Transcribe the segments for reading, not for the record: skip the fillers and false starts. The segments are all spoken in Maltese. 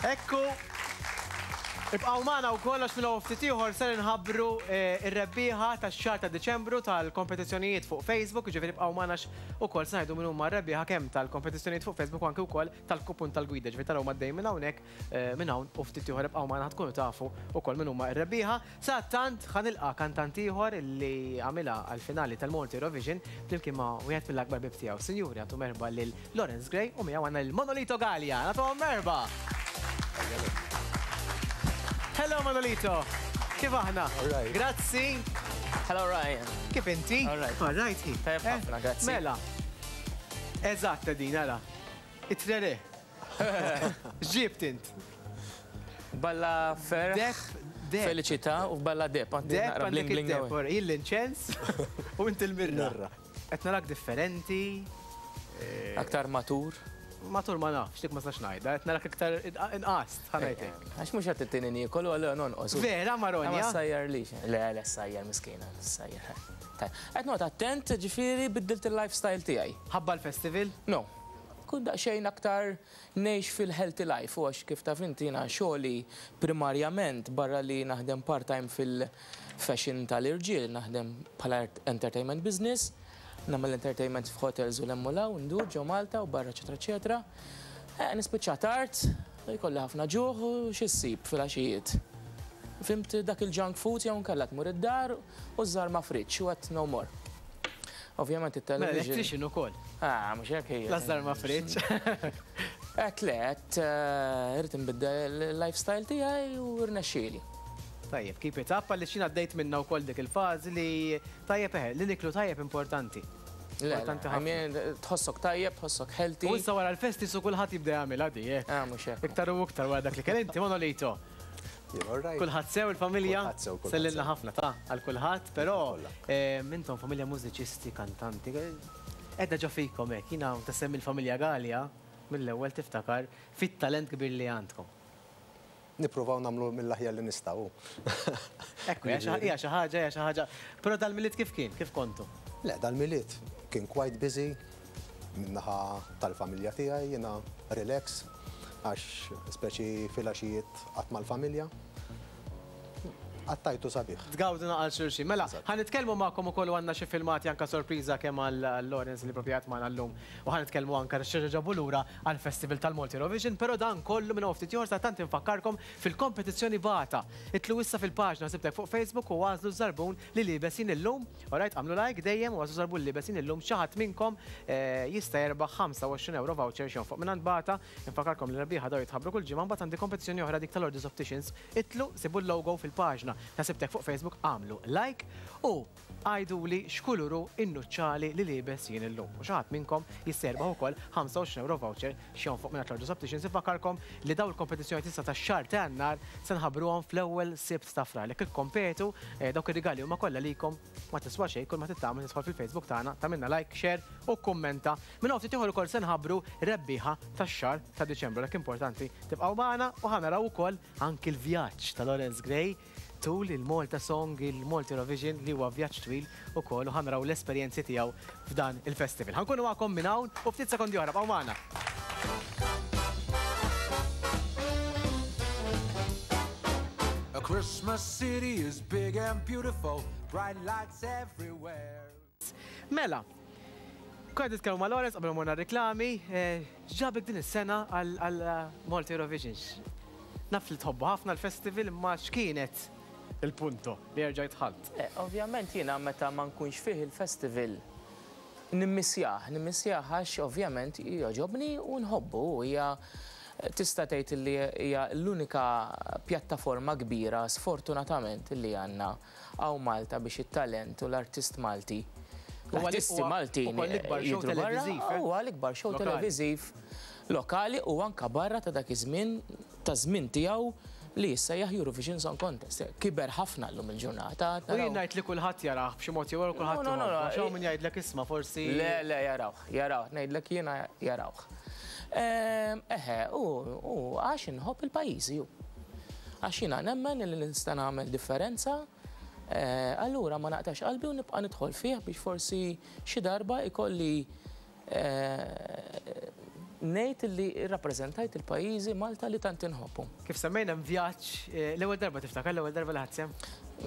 Ekku. Ibqgħu magħna wkoll għax minn hawn ftit ieħor ser inħabbru r-rebbieħa tax-xahar ta' Diċembru tal-kompetizzjonijiet fuq Facebook, jiġifieri ibqgħu magħna għax ukoll se ngħidu min huma r-rebbieħa kemm tal-kompetizzjonijiet fuq Facebook u anke wkoll tal-kupun tal-gwida, ġifieri taraw għaddej minn hawnhekk minn hawn u ftit ieħor ibqgħu magħna ħa tkunu tafu wkoll min huma r-rebbieħa. Sadattant ħa nilqa' kantant ieħor li għamilha għall-finali tal-Malta Eurovision flimkien ma' wieħed mill-akbar ħbieb tiegħu. Sinjuri agħtu merħba lil Lawrence Gray u miegħu għandna lil Manolito Galea. Nagħtuhom merħba! Hello Manolito! Kif aħna? Grazzi! Hello Ryan. Kif inti? All right. All right. Tajjeb eh? ħafna, grazzi. Mela. Eżatt din ara. It-trere. X'ġibt int? Balla ferħ. Deb, deb. Felicità u balla deb. Deb għandek id-deb. Jien l-inċens u inti l-mirra. Qed narak differenti. Aktar matur. Matur ma nafx, dik ma nistax ngħidha, qed narak iktar inqast, ħa ngħid hekk. Għax mhux qed tittini niekol u allura nonqos. Vera Maronja? Ma ssajjarlix. Le, le ssajjar miskina, ssajjar. Qed noqgħod attent, ġifieri biddilt il-lifestyle tiegħi. Ħabba l-festival? No. Kun daqsxejn aktar ngħix fil-healthy life u għax kif taf inti jiena xogħli primarjament barra li naħdem part-time fil- fashion tal-irġiel, naħdem bħala entertainment business, nagħmel entertainment f'hotels u 'l hemm u 'l hawn, ndur ġo Malta u barra eċetera eċetera. Eh, nispiċċa tard, jkolli ħafna ġuħ u xi ssib filgħaxijiet. Fhimt dak il-junk food jew inkella tmur id-dar u żżarma fridge u għedt no more. Ovvjament it-television. Mela electrician ukoll. Ah, mhux hekk hija. La żarma fridge. Għedt le, għedt eh, irrid inbiddel il-lifestyle tiegħi u rnexxieli. Tajjeb, keep it up għaliex jien għaddejt minnha wkoll dik il-fażi li tajjeb eħe, li niklu tajjeb importanti. Importanti ħafna. Tħossok tajjeb, tħossok healthy. U issa wara l-festi su kulħadd jibda jagħmilha di, eh. Ah, mhux hekk. Iktar u iktar wara dak li kell inti, Manolito. Kulħadd sew il-familja? Kulħadd sew, kulħadd. Sellilna ħafna ta' għal kulħadd, però intom familja mużiċisti, kantanti, qiegħda ġo fikom hekk. Jiena meta semmi l-familja Galea, mill-ewwel tiftakar fit-talent kbir li għandkom. Nippruvaw nagħmlu mill-aħjar li nistgħu. Ekku, hija xi ħaġa, hija xi ħaġa. Però dal-Milied kif kien? Kif kontu? Le, dal-Milied kien quite busy min-naħa tal-familja tiegħi, jiena relax għax speċi filgħaxijiet qatt mal-familja. Qattajtu sabiħ. Tgawdu naqal xulxin. Mela, ħa nitkellmu magħkom ukoll u għandna xi filmati anke sorpriża kemm għal Lawrence li proprju qiegħed magħna llum U ħa nitkellmu anke x'reġa' ġabu lura għall-Festival tal-Malta Eurovision, però dan kollu minn hawn ftit ieħor sa tant infakkarkom fil-kompetizzjoni Bata. Idħlu issa fil-paġna Sibtek fuq Facebook u agħżlu ż-żarbun li liebes jien illum. Alright, agħmlu like dejjem u agħżlu żarbun li liebes jien illum xi ħadd minnkom jista' jerbaħ 25 ewro voucher x'jonfoq mingħand Bata. Infakkarkom li r-rebbieħa dawn jitħabbru kull ġimgħa mbagħad għandi kompetizzjoni oħra dik tal-Orders Opticians. Idħlu, sibu l-logo fil-paġna ta' Sibtek fuq Facebook, agħmlu like u Għiduli x'kulur hu n-nuċċali li liebes jien illum. U xi ħadd minnkom jista' jirbaħ ukoll 25 ewro voucher x'jonfoq mingħand Lordos Opticians. Infakkarkom li dawn il-kompetizzjonijiet issa tax-xahar ta' Jannar se nħabbruhom fl-ewwel Sibt ta' Frar. Jekk ikkompetu, dawk ir-rigali huma kollha likom, ma tiswa xejn, kull ma trid tagħmel tidħol fil-Facebook tagħna, tagħmilna like, share u kkummenta. Minn hawn ftit ieħor ukoll se nħabbru rebbieħa tax-xahar ta' Diċembru. Għalhekk importanti tibqgħu magħna u ħa naraw ukoll anki l-vjaġġ ta' Lawrence Gray tul il-Malta Song, il-Malta Eurovision li huwa vjaġġ twil ukoll u ħa naraw l-esperjenzi tiegħu f'dan il-festival. Ħa nkunu magħkom minn hawn u ftit sekondi oħra, bqgħu magħna. A Christmas city is big and beautiful, bright lights everywhere. Mela, konna qed nitkellmu ma' Lawrence qabel ma morna r-riklami, x'ġabek din is-sena għal Malta Eurovision? Naf li tħobbu ħafna l-festival imma x'kienet il-punto li erġajt dħalt? Ovvjament jiena meta ma nkunx fih il-festival nimmissjah, nimmissjah għax ovvjament jogħġobni u nħobbu u hija tista' tgħid li hija l-unika pjattaforma kbira sfortunatament li għandna Hawn Malta biex it-talent u l-artist Malti, l-artisti Maltin jidhru barra, huwa l-ikbar show televiżiv lokali u anke barra ta' dak iż-żmien, taż-żmien tiegħu li jissejjaħ Eurovision Song Contest. Kiber ħafna llum il-ġurnata. U jien ngħid li kulħadd jarah b'xi mod jew ieħor kulħadd iħobbu. Għax hawn min jgħidlek isma' forsi. Le, le, jarawh, jarawh, ngħidlek jiena jarawh. Eħe, u għax inħobb il-pajjiżi hu. Għax jiena nemmen li nista' nagħmel differenza, allura ma naqtax qalbi u nibqa' nidħol fih biex forsi xi darba jkolli. ngħid li rrappreżentajt il-pajjiżi Malta li tant inħobbu. Kif semmejna hemm vjaġġ, l-ewwel darba tiftakar l-ewwel darba li ħadt sehem?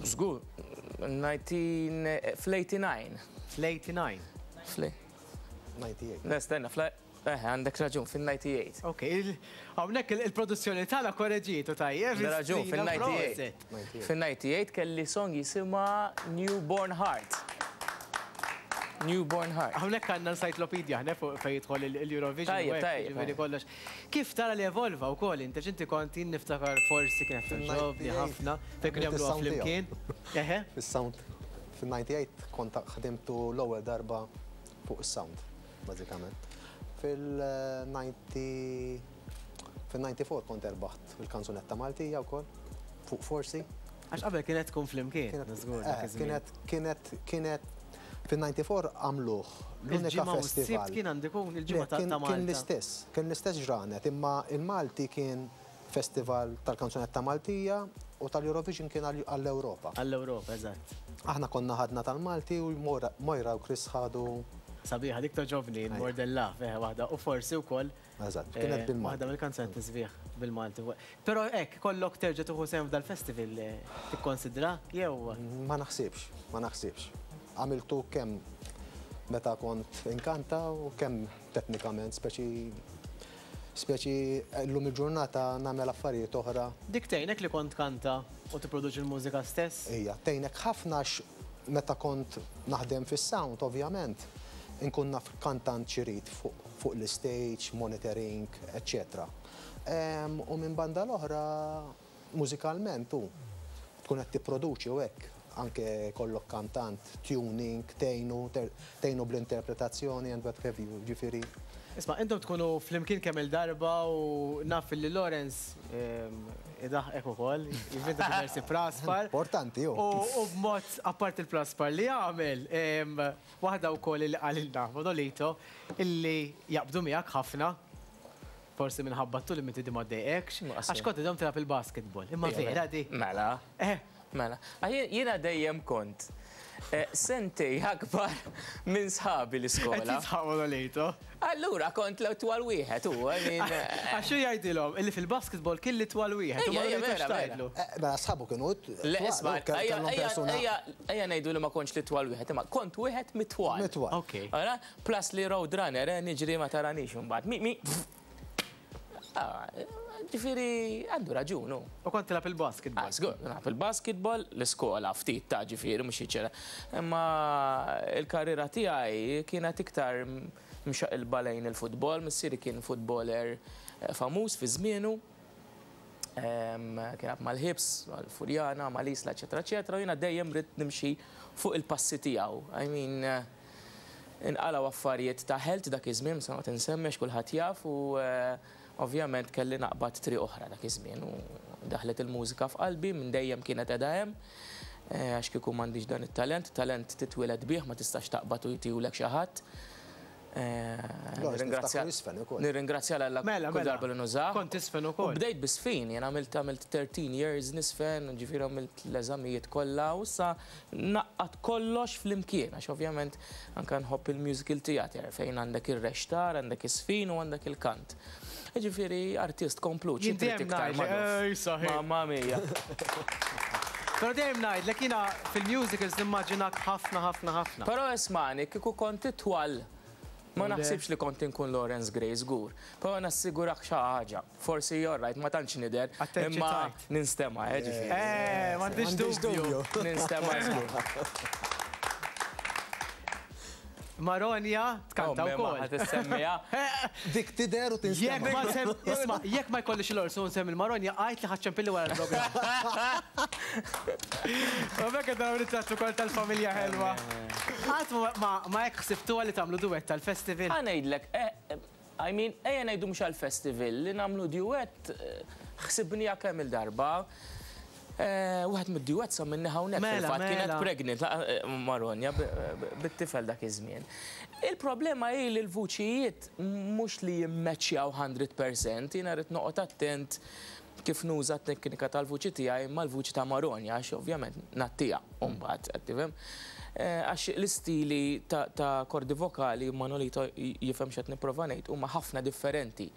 Żgur, 19 fl-89. Fl-89. Fl 98. Le, stenna, fl eh, għandek raġun, fil-98. Ok, hawnhekk il-produzzjoni tagħna korreġietu tajjeb. Raġun, Strina, fil-98. proset. Fil-98 kelli song jisimha Newborn Heart. Newborn Heart. Hawnhekk għandna encyclopedia ħne fuq fejn jidħol il-Eurovision. Tajjeb, u hekk, tajjeb, jiġifieri tajjeb. kollox. Kif tara li evolva wkoll inti x'inti kont jien niftakar forsi kienet togħġobni Fil-98. ħafna fejn kienu Għamilt jagħmluha is-sound flimkien. Eħe. Fis-sound fil-98 kont ħdimtu l-ewwel darba fuq is-sound, bażikament. Fil-90 fil-94 kont erbaħt il-kanzunetta Maltija wkoll fuq Forsi. Għax qabel kienet tkun flimkien. Żgur, dak iż-żmien. Kienet fil-94 għamluh l-unika Il-ġimgħa u s-sibt festival. kien għandu jkun il-ġimgħa Le, ta' kien ta' kien Malta. l-istess ġranet, imma il-Malti kien festival tal-kanzunetta Maltija u tal-Eurovision kien għall-Ewropa. Għall-Ewropa, eżatt. Aħna konna ħadna tal-Malti u Moira u Chris ħadu. Sabiħa, dik togħġobni, More Than Love, eħe, waħda. U forsi wkoll Eżatt, kienet bil-Malti. Waħda mill-kanzunetti sbieħ bil-Malti. Però hekk, kollok terġa' tieħu sehem f'dal-festival tikkonsidra jew Ma naħsibx, ma naħsibx. Għamiltu kemm meta kont inkanta u kemm teknikament, speċi llum il-ġurnata nagħmel affarijiet oħra. Dik tgħinek li kont kanta u tipproduċi l-mużika stess? Ija, tgħinek ħafna għax meta kont naħdem fis-sound, ovvjament, inkun naf kantant x'irid fuq l-stage, monitoring, eccetera. U minn banda l-oħra, mużikalment u tkun qed tipproduċi u hekk, anke kollok kantant, tuning, tgħinu bl-interpretazzjoni and what have you, ġifieri. Isma', intom tkunu flimkien kemm il-darba u naf li Lawrence idaħqek ukoll, jivvinta diversi praspar. Importanti, ju. U b'mod apart il-praspar li jagħmel, waħda wkoll li qalilna Manolito illi jaqbdu miegħek ħafna, forsi minħabba t-tul li inti di ma ddejqekx, Ma għax kont idhom tilgħab il-basketball. Imma Ija, vera di. Mela. Mela. Jiena dejjem kont sentej akbar minn sħabi l-iskola. Qed jisħaq Manolito. Allura kont l-twal wieħed u, I mean, Għax xi jgħidilhom illi fil-basketball kien li twal wieħed. U Ejja, ejja, Manolito vera, vera. x'tgħidlu? Mela sħabu kienu Le, twal, isma', u kellhom persuna ejja ngħidu li ma kontx li twal wieħed, imma kont wieħed mitwal. Mitwal. Ok. Ara, plus li road runner, niġri ma taranix imbagħad. Mi, mi. Ah, ġifieri għandu raġun, hu. U kont tilgħab il-basketball. Ah, żgur, nilgħab il-basketball, l-iskola ftit ta' ġifieri mhux jiċċera. Imma il-karriera tiegħi kienet iktar mxaqilba lejn il-futbol, missieri kien futboler famuż fi żmienu. Kien mal-Ħibs, mal-Furjana, mal-Isla, eċetera, eċetera, u jiena dejjem ridt nimxi fuq il-passi tiegħu. I mean, inqalgħu affarijiet ta' health dak iż-żmien, sa ma tinsemmex kulħadd jaf, u ovvjament kelli naqbad triq oħra dak iż-żmien u daħlet il-mużika f'qalbi minn dejjem kienet qiegħda hemm. Għax kieku m'għandix dan it-talent, talent titwieled bih, ma tistax taqbad u jtihulek xi ħadd. Lawrence, niftakru jisfen ukoll. Nirringrazzja l Alla Mela, kull mela. darba li nużah. Kont tisfen ukoll. U bdejt bisfin, jien għamilt 13 years nisfen, ġifieri għamilt l-eżamijiet kollha u issa naqqat kollox flimkien, għax ovvjament anke nħobb il-musical theater fejn għandek ir-rextar, għandek is-sfin u għandek il-kant. Ġifieri artist komplut, xi Jien trid dejjem iktar ngħid, magħruf. ej, saħi. Mamma mia. Però dejjem ngħidlek jiena fil-musicals nimmaġinak ħafna, ħafna, ħafna. Però ismani, kieku kont itwal, ma Le. naħsibx li kont inkun Lawrence Gray żgur. Però nassigurak xi ħaġa. Forsi you're right, ma tantx nidher, Attenċi imma tajt. ninstema', ġifieri. M'għandix M'għandix dubju. dubju. Ninstema' żgur. Maronja tkanta Ommi, ma wkoll. ħadd issemmiha. Dik tidher u Jekk tinstema'. ma sem, isma', jekk ma jkollix l-orsu nsemmi il-Maronja, għajt li ħaċċempilli wara l-programm. U bekk qed naraw ritratt ukoll tal-familja ħelwa. Qatt ma hekk ħsibtuha li tagħmlu duett tal-festival. Ħa ngħidlek, I mean, ejja ngħidu mhux għall-festival, li nagħmlu duett, ħsibniha kemm il-darba. Wieħed mid-duett sa minni hawnhekk Mela, fil-fatt kienet mela. pregnant, Maronja bit-tifel dak iż-żmien. Il-problema hi li l-vuċijiet mhux li jimmeċjaw 100%, jiena rrid noqgħod attent kif nuża t-teknika tal-vuċi tiegħi mal-vuċi ta' Maronja, għax ovvjament nattija mbagħad, qed tifhem? Għax l-istili ta' kordi vokali, Manolito jifhem x'qed nipprova ngħid, huma ħafna differenti.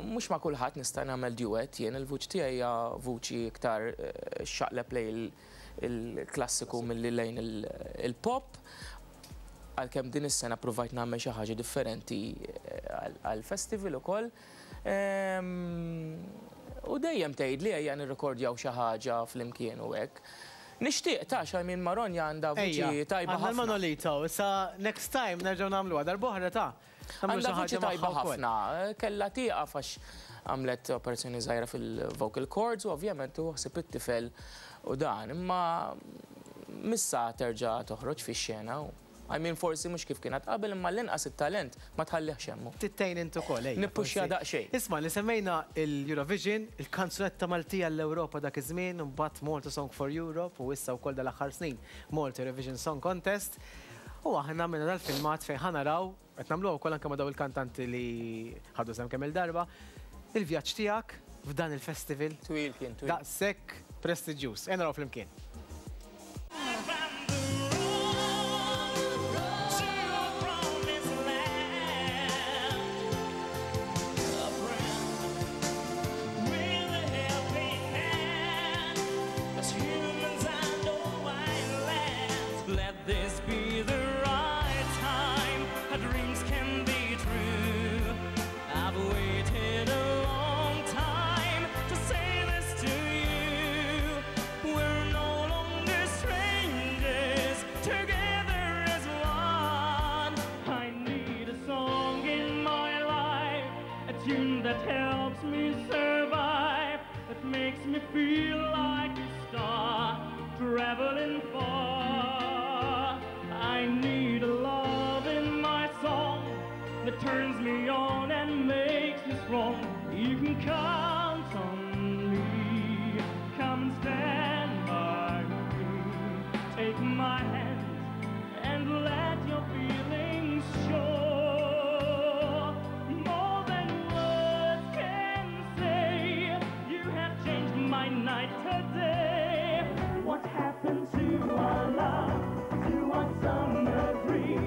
Mhux ma' kulħadd nista' nagħmel duet, jien il-vuċi tiegħi hija vuċi iktar xaqleb lejn il-klassiku milli lejn il-pop. Għalkemm din is-sena provajt nagħmel xi ħaġa differenti għall-festival ukoll. U dejjem tgħid li ejja nirrekordjaw xi ħaġa flimkien u hekk. Nixtieq ta' xi minn Maronja għandha vuċi tajba ħafna. Manolito, sa next time nerġgħu nagħmluha darb'oħra ta' Għandha vuċi tajba ħafna. Kellha tieqaf għax għamlet operazzjoni żgħira fil-vocal cords u ovvjament u ħsib it-tifel u dan. Imma missa terġa' toħroġ fix-xena. I mean, forsi mhux kif kienet qabel, imma l-inqas it-talent ma tħallihx hemmu. Tittejn intu ukoll, ejja. Nippuxja daqsxejn. Isma' li semmejna l-Eurovision, il-kanzunetta Maltija l-Ewropa dak iż-żmien, mbagħad Malta Song for Europe u issa wkoll dal-aħħar snin Malta Eurovision Song Contest. U aħna minna dal-filmat fejn ħa naraw, qed nagħmluha wkoll anke ma' daw il-kantanti li ħadu sehem kemm il-darba, il-vjaġġ tiegħek f'dan il-festival. Twil kien, twil. Daqshekk prestiġjuż. Ejja naraw flimkien. This be the right time, our dreams can be true. I've waited a long time to say this to you. We're no longer strangers, together as one. I need a song in my life, a tune that helps me survive, that makes me feel like a star, traveling far. I need a love in my song that turns me on and makes me strong. You can count on me. Come and stand by me. Take my hand and let your feelings show. More than words can say, you have changed my night today. What happened to our love? To our summer dream,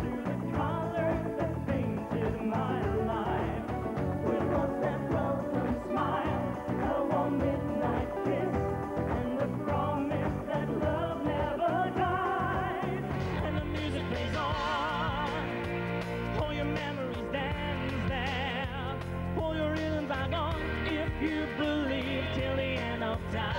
to the colors that painted my life. Where was that welcome smile, a warm midnight kiss, and the promise that love never died? And the music plays on, all your memories dance there, all your rhythms are gone, if you believe till the end of time.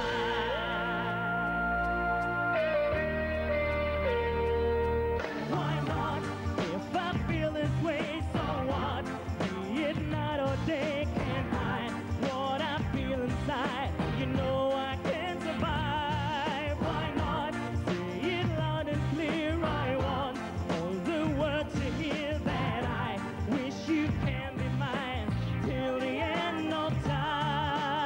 Why not? If I feel this way, so what? Be it night or day, can't hide what I feel inside. You know I can survive. Why not? Say it loud and clear. I want all the world to hear that I wish you can be mine till the end of time.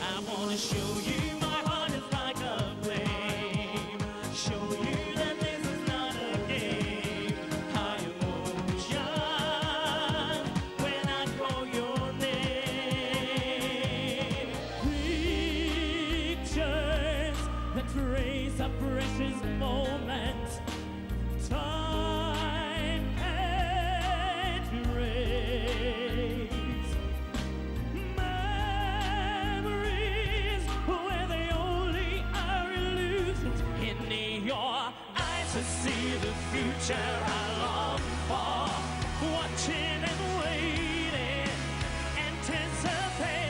I want to show you my heart is like a flame. Show you that this is not a game. High emotion when I call your name. Pictures that trace a precious moment. Time can't erase. Memories where they only are illusions. In your eyes to see the future I long for. Watching and waiting, anticipating.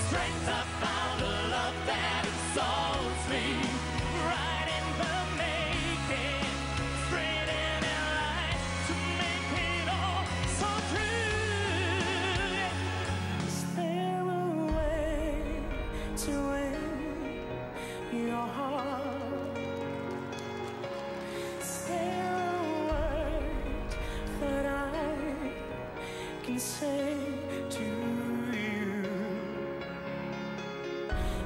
Strength I found a love that exalts me. Right in the making, straight in a light to make it all so true. Is there a way to win your heart? Is there a word that I can say to you?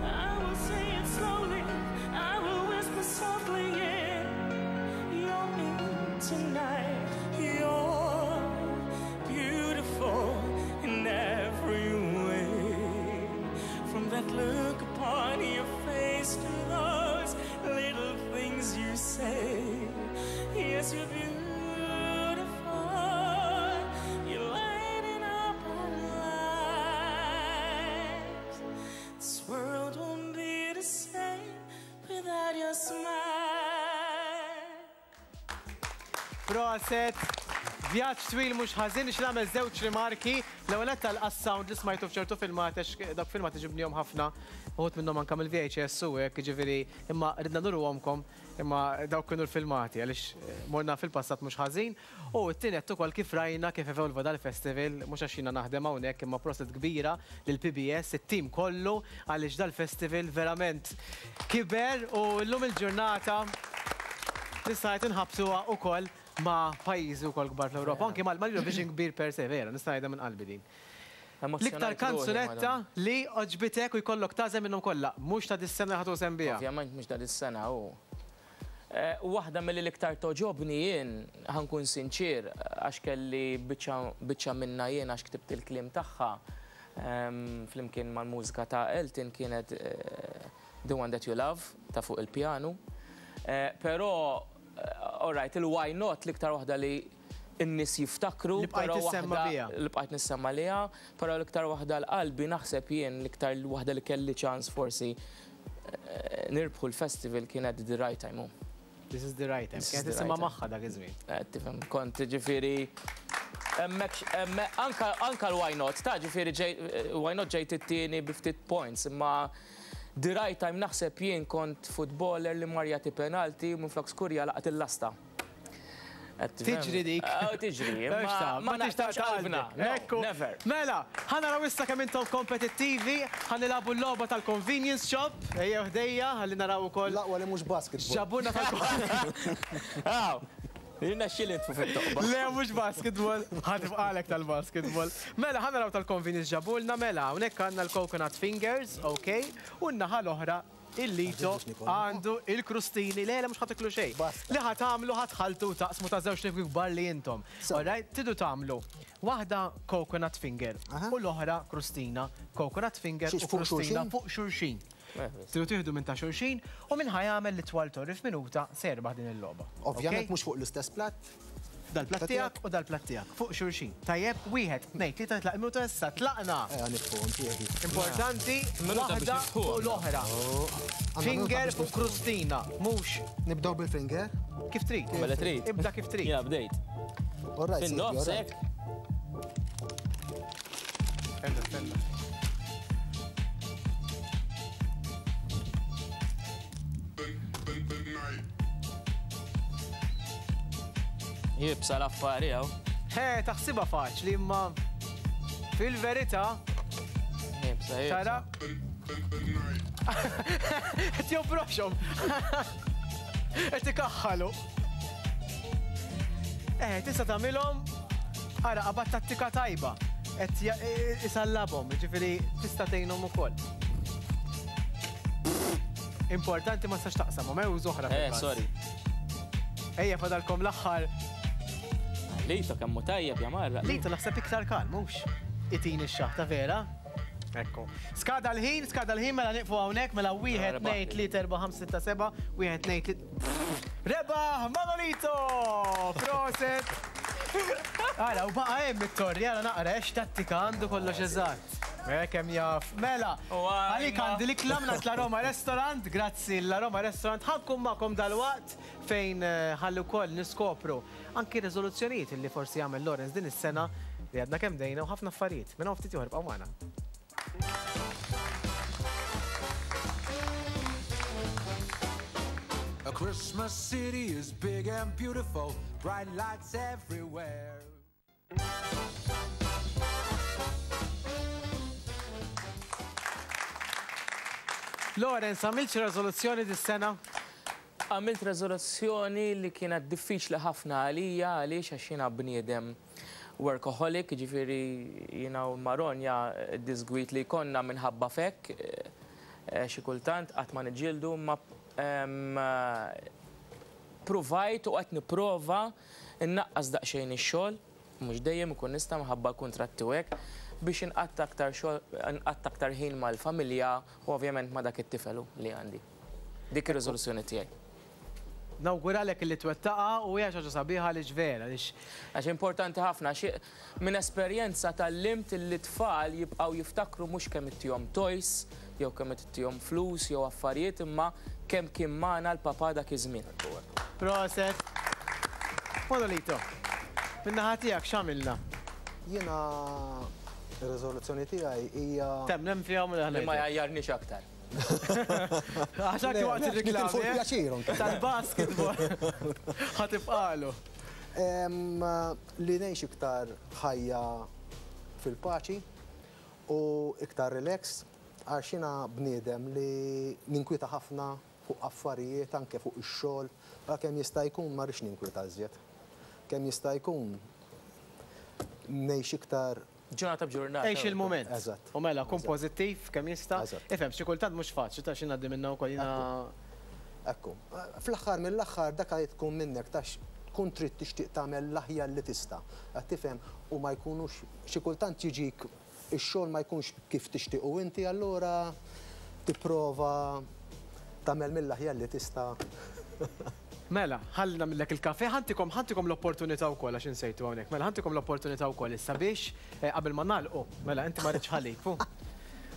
I will say it slowly, I will whisper softly in your ear tonight. You're beautiful. Proset! Vjaġġ twil mhux ħażin nixtieq nagħmel żewġ rimarki. L-ewwel nett għas-sound li smajtu f'ċertu filmat għax dawk filmati ġibnihom ħafna, uħud minnhom anke mill-VHS u hekk, jiġifieri imma ridna nuruhomkom imma dawk kienu l-filmati għaliex morna fil-passat mhux ħażin. U t-tieni nett ukoll kif rajna kif evolva dal-festival, mhux għax jiena naħdem hawnhekk imma proset kbira lill-PBS, it-tim kollu għaliex dal-festival verament kiber u llum il-ġurnata nista' ngħid inħabbtuha ukoll ma' pajjiżi wkoll kbar fl-Ewropa, anki mal-Eurovision kbir per se, vera, nista' ngħidha minn qalbi din. L-iktar kanzunetta li għoġbitek u jkollok tagħżel minnhom kollha, mhux ta' dis-sena li ħa tużem biha. Ovvjament mhux ta' dis-sena hu. Waħda milli l-iktar togħġobni jien, ħa nkun sinċier, għax kelli biċċa biċċa minnha jien għax ktibt il-kliem tagħha, flimkien mal-mużika ta' Elton kienet The One That You Love ta' fuq il-pjanu. Però, all right, il-Why Not l-iktar waħda li n-nies jiftakru. Li bqajt tissemma biha. Li bqajt nissemma liha, però l-iktar waħda għal qalbi naħseb jien l-iktar waħda li kelli ċans forsi nirbħu l-festival kienet The Right Time. This is the right time. Kienet tisimha magħha dak iż-żmien. Tifhem, kont ġifieri hemmhekk anka anka l-why not, ta' ġifieri why not ġejt it-tieni bi ftit points, imma The Right Time naħseb jien kont footballer li mar jagħti penalti u minflok skurja laqat il-lasta. Tiġri dik. Oh, tiġri. Ma tixtaqx qalbna. Ekku. Never. Mela, ħa naraw issa kemm intom kompetittivi, ħa nilagħbu l-logħba tal-convenience shop. Ejjew ħdejja, ħalli naraw ukoll. L-aqwa li mhux basketball. Ġabuna tal Aw, Jirnexxieli nitfu fit-toqba. Le, mhux basketball. Ħa tibqalek tal-basketball. Mela, ħa naraw tal-convenience ġabulna, mela, hawnhekk għandna l-coconut fingers, ok, u n-naħa l-oħra il-Lito għandu il-krustini, le, le, mhux ħa tiklu xejn. Li ħa tagħmlu ħa tħalltu u taqsmu ta' żewġ nifki kbar li intom. Alright, tridu tagħmlu waħda coconut finger u l-oħra krustina, coconut finger u krustina fuq xulxin. Tridu tieħdu minn ta' xulxin u min ħa jagħmel l-itwal torri f'minuta se jerbaħ din il-logħba. Ovvjament mhux fuq l-istess platt. Dal-platt tiegħek u dal-platt tiegħek fuq xulxin. Tajjeb, wieħed, tnejn, tlieta titlaq il-minuta issa, tlaqna! Ejja nitfuhom tiegħi. Importanti, waħda fuq l-oħra. Finger fuq krustina, mhux. Nibdew bil-finger? Kif trid. Mela trid. Ibda kif trid. Jiena bdejt. All right, Fin-nofs hekk. Stenna, stenna. Jibsa l-affari hawn. He, taħsibha faċli imma fil-verità. Jibsa, jibsa. Tara? Qed joproxhom. Qed ikaħħalu. Eh, tista' tagħmilhom ara qabad tattika tajba. Qed isallabhom, jiġifieri tista' tgħinhom ukoll. Importanti ma tistax taqsamhom, eh, użu oħra. Eh, sorry. Ejja fadalkom l-aħħar. Lito kemm hu tajjeb ja marra. Lito naħseb iktar kalm, mhux? Itini x-xaħta vera. Ekku. Skada l-ħin, skada l-ħin, mela nieqfu hawnhekk, mela wieħed, tnejn, tliet, erba', ħamsa, sitta, seba', wieħed, tnejn, tliet. Rebaħ Manolito! Proset! Ara, u baqa' hemm it-torri, ara naqra, x'tattika għandu kollox eżatt. Eh, kemm jaf. Mela, għalik għandi l-ikla mingħand La Roma Restaurant, grazzi La Roma Restaurant, ħa nkun magħkom dalwaqt fejn ħalli wkoll niskopru anki riżoluzzjonijiet li forsi jagħmel Lawrence din is-sena li għadna kemm bdejna u ħafna affarijiet. Minn hawn ftit ieħor ibqgħu magħna. A Christmas city is big and beautiful, bright lights everywhere. Lawrence, għamilt xi reżoluzzjoni dis-sena? Għamilt reżoluzzjoni li kienet diffiċli ħafna għalija għaliex għax jiena bniedem workaholic, jiġifieri jiena u Maronja d-diżgwid li jkollna minħabba f'hekk, xi kultant qatt ma niġġieldu imma Pruvajt u qed nipprova nnaqqas daqsxejn ix-xogħol, mhux dejjem ikun nista' minħabba l-kuntratti u hekk, biex inqatta' aktar xogħol, nqatta' aktar ħin mal-familja u ovvjament ma' dak it-tifel li għandi. Dik ir-riżoluzzjoni tiegħi. Nawguralek li twettaqha u hija xi ħaġa sabiħa għaliex vera għaliex. Għax importanti ħafna għax minn esperjenza tgħallimt li t-tfal jibqgħu jiftakru mhux kemm ittihom toys jew kemm ittihom flus jew affarijiet imma Kemm kien magħna l-papà dak iż-żmien. Proset. Manolito, min-naħa tiegħek x'għamilna? Jiena ir-riżoluzzjoni tiegħi hija. Temmen fiha u Li ma jgħajjarniex aktar. Għax anki waqt ir-riklami tal-basketball ħa tibqagħlu. Li ngħix iktar ħajja fil-paċi u iktar relax għax jiena bniedem li ninkwieta ħafna fuq affarijiet anke fuq ix-xogħol, ara kemm jista' jkun ma rridx ninkwieta iżjed. Kemm jista' jkun ngħix iktar. Ġurnata b'ġurnata. Għix il-mument. Eżatt. U mela, kun pożittiv kemm jista'. Eżatt. Ifhem, xi kultant mhux faċli ta' xi ngħaddi minnha wkoll jiena. Ekku. Fl-aħħar mill-aħħar dak li tkun minnek tax tkun trid tixtieq tagħmel l-aħjar li tista'. Qed tifhem? U ma jkunux xi kultant jiġik ix-xogħol ma jkunx kif tixtiequ inti allura tipprova tagħmel mill-aħjar li tista'. Mela, ħalli nagħmillek il-kafè, ħa ntikom ħa ntikom l-opportunità wkoll għax insejtu hawnhekk. Mela ħa ntikom l-opportunità wkoll issa biex qabel ma nagħlqu. Mela inti ma ridtx ħalib, hu.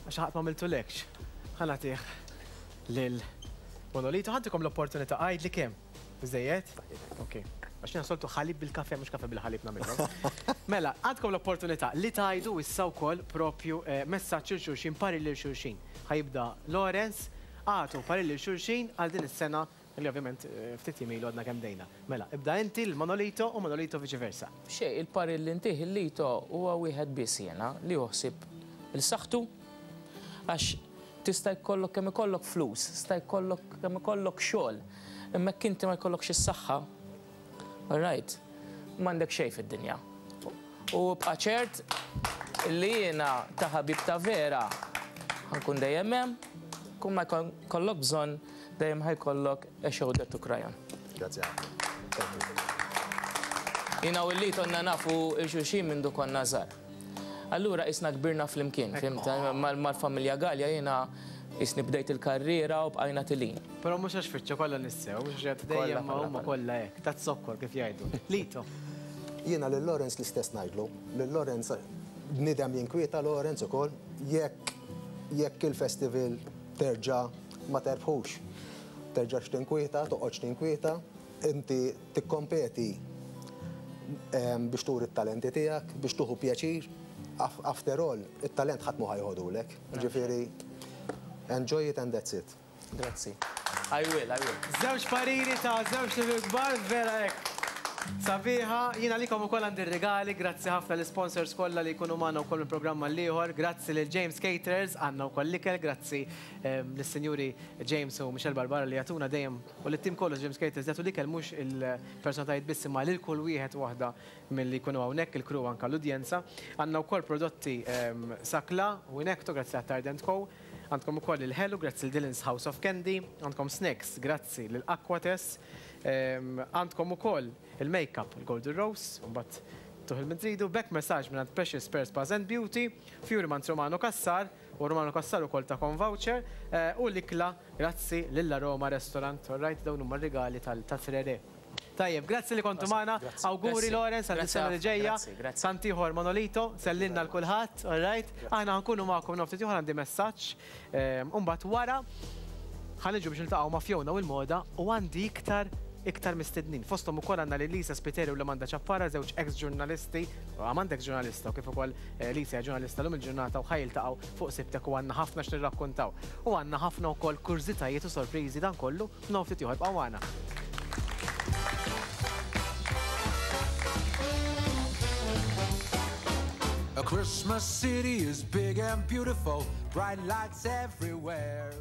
Għax ħadd ma għamiltulekx. Ħa nagħtih lil Monolito, ħa ntikom l-opportunità għidli kemm. Biżżejjed? Ok. Għax jiena soltu ħalib bil-kafè mhux kafè bil-ħalib nagħmilhom. Mela, għandkom l-opportunità li tgħidu issa wkoll propju messaġġ lil xulxin, parir lil xulxin. Ħa jibda Lawrence, agħtu parir lil xulxin għal din is-sena li ovvjament ftit jiem ilu għadna kemm bdejna. Mela, ibda inti lil Manolito u Manolito viċi versa. Xejn, il-parir li ntih lil Lito huwa wieħed biss jiena, li hu ħsieb 'il saħħtu għax tista' jkollok kemm ikollok flus, tista' jkollok kemm ikollok xogħol, imma jekk inti ma jkollokx is-saħħa, all right, m'għandek xejn fid-dinja. U ibqa' ċert li jiena ta' ħabib ta' vera ħa nkun dejjem hemm, kull ma jkollok bżonn dejjem ħa jkollok a shoulder to cry on. Grazzi ħafna. Thank you. Jiena u Lee konna nafu 'l xulxin mindu konna żgħar. Allura qisna kbirna flimkien, fhimt? Mal-familja Galea jiena qisni bdejt il-karriera u bqajna tilin. Però mhux għax fiċċa kollha nies sew, mhux għax qed dejjem ma huma kollha hekk, taz-zokkor kif jgħidu. Lito. Jiena lil Lawrence l-istess ngħidlu. Lil Lawrence bniedem jinkwieta Lawrence ukoll jekk jekk il-festival terġa' ma terbħux. Terġax tinkwieta, toqgħodx tinkwieta, inti tikkompeti biex turi t-talenti tiegħek, biex tuħu pjaċir. After all, it-talent ħadd mhu ħa joħodulek. Ġifieri, enjoy it and that's it. Grazzi. I will, I will. Żewġ pariri ta' żewġ ħbieb kbar, vera hekk. Sabiħa, jien għalikom ukoll għandi r-rigali, grazzi ħafna l-sponsors kollha li jkunu magħna wkoll minn programm għall-ieħor, grazzi lil James Caterers, għandna wkoll l-ikel, grazzi lis-sinjuri James u Michelle Barbara li jagħtuna dejjem u lit-tim kollu James Caterers jagħtu l-ikel mhux il-personalitajiet biss imma lil kull wieħed u waħda milli jkunu hawnhekk il-crew anke l-udjenza. Għandna wkoll prodotti Sakla u Inecto grazzi għat Tard Co. Għandkom ukoll il-ħelu grazzi lil Dylan's House of Candy, għandkom snacks grazzi lil Aquates, għandkom ukoll il-makeup il-Golden Rose, u mbagħad tuħ il-min tridu, back massage mingħand Precious Pearl Spas and Beauty, Fury mant Romano Cassar, u Romano Cassar ukoll takom voucher, u l-ikla grazzi lil Aroma Restaurant, all right, dawn huma r-rigali tal-Trere. Tajjeb, grazzi li kontu magħna, awguri Lawrence għal sena li ġejja, tant ieħor Manolito, sellimna l kulħadd, all right? Aħna ħankunu magħkom noftit ieħor għandi messaġġ, u mbagħad wara ħa niġu biex niltaqgħu ma' Fiona u l-moda u għandi iktar iktar mistednin. Fosthom ukoll għandna lil Lisa Spiteri u l-Amanda Ciappara, żewġ ex-ġurnalisti, Amanda ex-ġurnalista u kif ukoll Lisa hija ġurnalista llum il-ġurnata u ħa jiltaqgħu fuq Sibtek u għandna ħafna x'nirrakkuntaw. U għandna ħafna wkoll kurżitajiet u sorpriżi dan kollu f'nofs ftit ieħor. Ibqgħu magħna. A Christmas city is big and beautiful, bright lights everywhere.